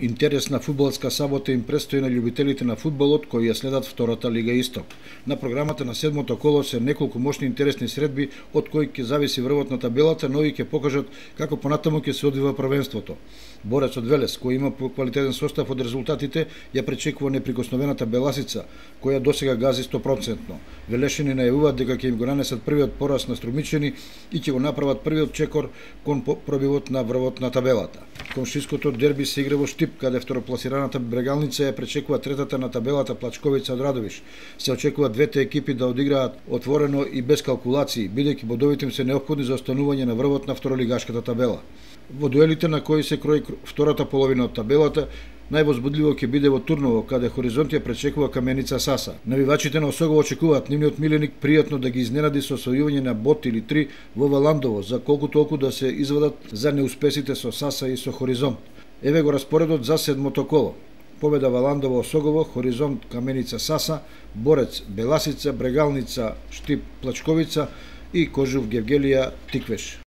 Интересна фудбалска сабота им престои на љубителите на фудбалот кои ја следат втората Лига Исток. На програмата на седмото коло се неколку мощни интересни средби од кои ќе зависи врвот на табелата, но и ќе покажат како понатаму ќе се одвива првенството. Борец од Велес, кој има квалитетен состав од резултатите, ја пречекува неприкосновената Беласица, која досега гази 100%. Велешани најавуваат дека ќе им го нанесат првиот пораз на Струмичани и ќе го направат првиот чекор кон пробивот на врвот на табелата. Комшиското дерби се игра во Штип, каде второпласираната Брегалница ја пречекува третата на табелата Плачковица од Радовиш. Се очекува двете екипи да одиграат отворено и без калкулации, бидејќи бодовите им се неопходни за останување на врвот на второлигашката табела. Во дуелите на кои се крои втората половина од табелата, највозбудливо ќе биде во Турново, каде Хоризонт ја пречекува Каменица Саса. Навивачите на Осогово очекуваат нивниот миленик пријатно да ги изненади со освојување на бот или 3 во Валандово, за колку толку да се извадат за неуспесите со Саса и со Хоризонт. Еве го распоредот за седмото коло. Победа Валандово Осогово, Хоризонт Каменица Саса, Борец Беласица, Брегалница Штип Плачковица и Кожув Гевгелија Тиквеш.